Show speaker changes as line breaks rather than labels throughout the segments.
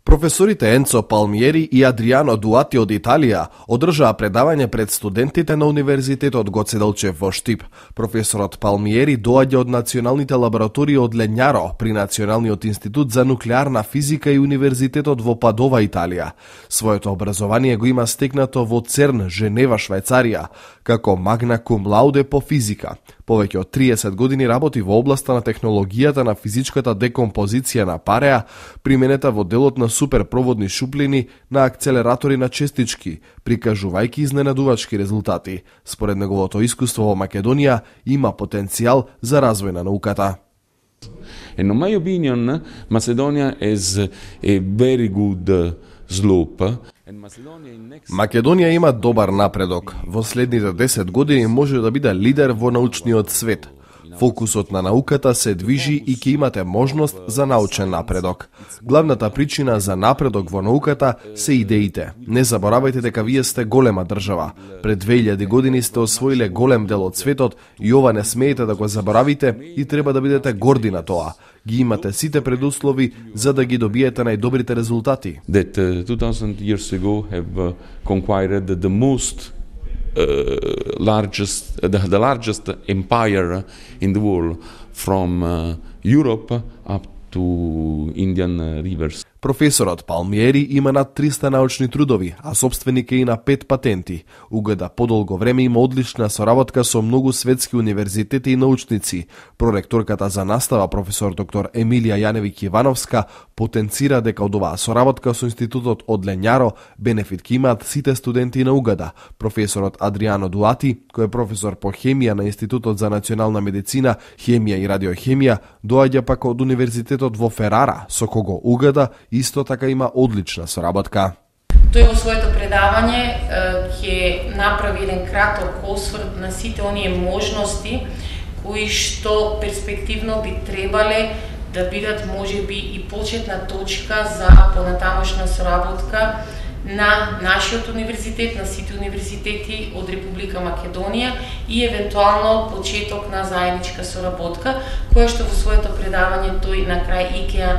Професорите Енцо Палмиери и Адриано Дуати од Италија одржаа предавање пред студентите на Универзитетот Гоце Делчев во Штип. Професорот Палмиери доаѓа од националните лаборатории од Лењаро при Националниот институт за нуклеарна физика и Универзитетот во Падова, Италија. Своето образование го има стекнато во ЦЕРН, Женева, Швајцарија, како магна кум лауде по физика. Повеќе од 30 години работи во областа на технологијата на физичката декомпозиција на пареа, применета во делот на суперпроводни шуплини на акцелератори на частички, прикажувајќи изненадувачки резултати. Според неговото искуство во Македонија има потенцијал за развој на науката.
In my opinion, Macedonia is a very good slope.
Македонија има добар напредок. Во следните 10 години може да биде лидер во научниот свет. Фокусот на науката се движи и ќе имате можност за научен напредок. Главната причина за напредок во науката се идеите. Не заборавајте дека вие сте голема држава. Пред 2000 години сте освоиле голем дел од светот и ова не смеете да го заборавите и треба да бидете горди на тоа. Ги имате сите предуслови за да ги добиете најдобрите резултати.
That 2000 years ago have conquered the most the largest empire in the world from Europe up to Indian rivers.
Професорот Палмиери има над 300 научни трудови, а собственик е и на 5 патенти. УГД подолго време има одлична соработка со многу светски универзитети и научници. Проректорката за настава, професор доктор Емилија Јаневиќ Ивановска, потенцира дека од оваа соработка со институтот од Лењаро бенефит ќе имаат сите студенти на УГД. Професорот Адриано Дуати, кој е професор по хемија на Институтот за национална медицина, хемија и радиохемија, доаѓа пак од Универзитетот во Ферара, со кого УГД исто така има одлична соработка.
Тој во своето предавање ќе направи еден краток осврт на сите оние можности кои што перспективно би требале да бидат можеби и почетна точка за понатамошна соработка на нашиот универзитет, на сите универзитети од Република Македонија и евентуално почеток на заедничка соработка, која што во своето предавање тој на крај и ќе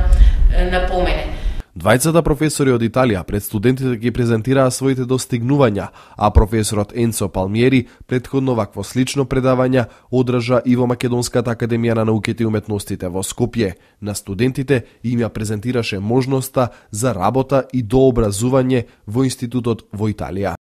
напомене.
Двајцата професори од Италија пред студентите ги презентираа своите достигнувања, а професорот Енцо Палмиери претходно вакво слично предавање одржа и во Македонската академија на науките и уметностите во Скопје. На студентите им ја презентираше можноста за работа и дообразување во институтот во Италија.